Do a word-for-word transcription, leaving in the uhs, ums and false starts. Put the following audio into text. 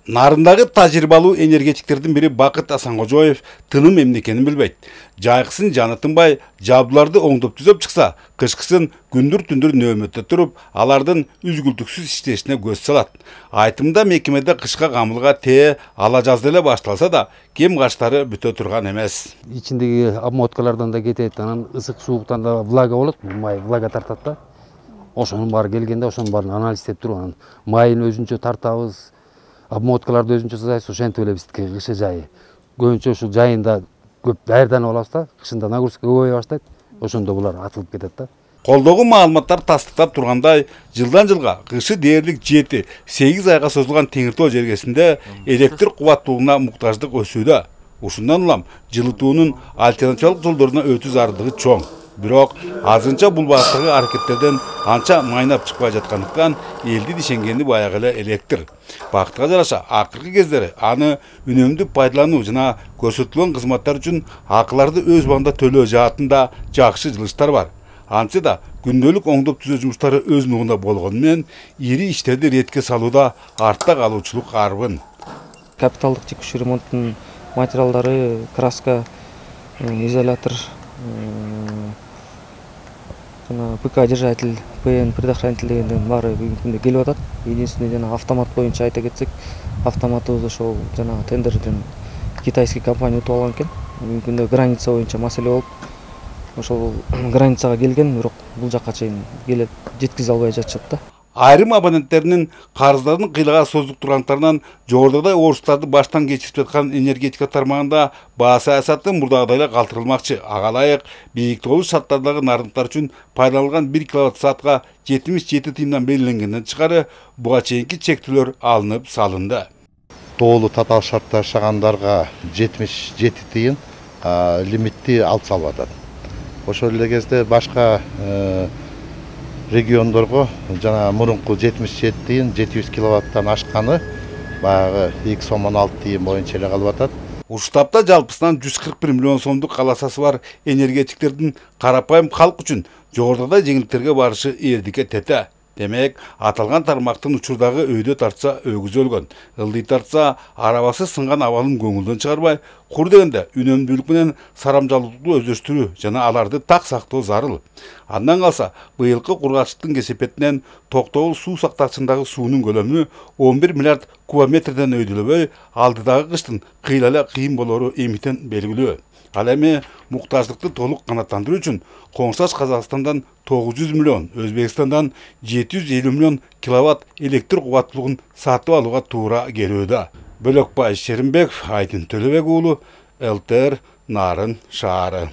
Нарындагы тажрыйбалуу энергетиктердин бири Бакыт Асанкожоев тыным эмне экенин билбейт. Жайкысын жаны тынбай, жабдууларды оңдоп түзөп чыкса, кышкысын күндүр-түндүр нөөмөттө туруп, алардын үзгүлтүксүз иштешине көз салат. Айтымда мекемеде кышка камылга тээ ала жазда эле башталса да, кем качтары бүтө турган эмес. Ичиндеги обмоткалардан да кетет, анан ысык сууктан да влага болот, май влага тартат да. Ошонун баары келгенде ошонун баарын анализдеп туруп, анан майын өзүнчө тартабыз. Обмоткаларды өзүнчө жасайбыз, ошентип эле биздики кышы жайы. Көбүнчө ушул жайында көп даярданып алабыз да, кышында нагрузка көбөйө баштайт, ошондо булар атылып кетет да. Колдогу маалыматтар тастыктап тургандай, жылдан жылга кышы дээрлик жети сегиз айга созулган Теңиртоо жергесинде электр кубаттуулугуна муктаждык өсүүдө. Ушундан улам жылытуунун альтернативалык жолдоруна өтүү зарылдыгы чоң. Бирок азырынча бул багыттагы аракеттерден анча майнап чыкпай жаткандыктан элди дишенгени баягы эле электр. Бакытка жараша акыркы кездери аны үнөмдүү пайдалануу жана көрсөтүлгөн кызматтар үчүн акыларды өз убагында төлөө жаатында жакшы жылыштар бар. Антсе да күндөлүк оңдоп түзөө жумуштары өз нугунда болгону менен ири иштерди ретке салууда артта калуучулук арбын. Капиталдык текущий ремонттун материалдары, краска, изолятор, ПК держатель, ПН предохранитель дегендердин баары бүгүнкү күндө келип атат. Единственный жана автомат боюнча айта кетсек, автоматыбыз ошол жана тендерден китайский компания утуп алган экен. Бүгүнкү күндө граница боюнча маселе болуп, ошол границага келген, бирок бул жакка чейин келип жеткизе албай жатышат да. Айрым абоненттеринин карыздардын кыйлага созулуп тургандыктарынан жогорудагыдай орустарды баштан кечирип жаткан энергетика тармагында баа саясаты мурдагыдай эле калтырылмакчы. Ага ылайык бийик толуш шарттардагы нарындыктар үчүн пайдаланылган бир киловатт саатка жетимиш жети тыйымдан белгиленгенден тышкары буга чейинки чектөөлөр алынып салынды. Тоолуу татаал шартта жашагандарга жетимиш жети тыйын лимитти алып салып атат. Ошол эле кезде башка региондорго жана мурунку жетимиш жети тыйын жети жүз киловаттан ашканы баягы эки сом он алты тыйын боюнча эле калып атат. Ушул таапта жалпысынан жүз кырк бир миллион сомдук каласасы бар энергетиктердин карапайым калк үчүн жогорудагыдай жеңилдиктерге барышы элдикке тете. Демек, аталган тармактын учурдагы өйдө тартса өгүз өлгөн, ылдый тартса арабасы сынган абалын көңүлдөн чыгарбай, кур дегенде үнөмдүүлүк менен сарамжалуулукту өздөштүрүү жана аларды так сактоо зарыл. Андан калса, быйылкы кургакчылыктын кесепетинен Токтогул суу сактагычындагы суунун көлөмү он бир миллиард кубометрден өйдөлөбөй, алдыдагы кыштын кыйла эле кыйын болору эмитен белгилүү. Ал эми муктаждыкты толук канааттандыруу үчүн коңшаш Казакстандан тогуз жүз миллион, Өзбекстандан жети жүз элүү миллион киловатт электр кубаттуулугун сатып алууга туура келүүдө. Бөлөкбай Шеримбеков, Айдын Төлөбек уулу, эл тэ эр Нарын шаары.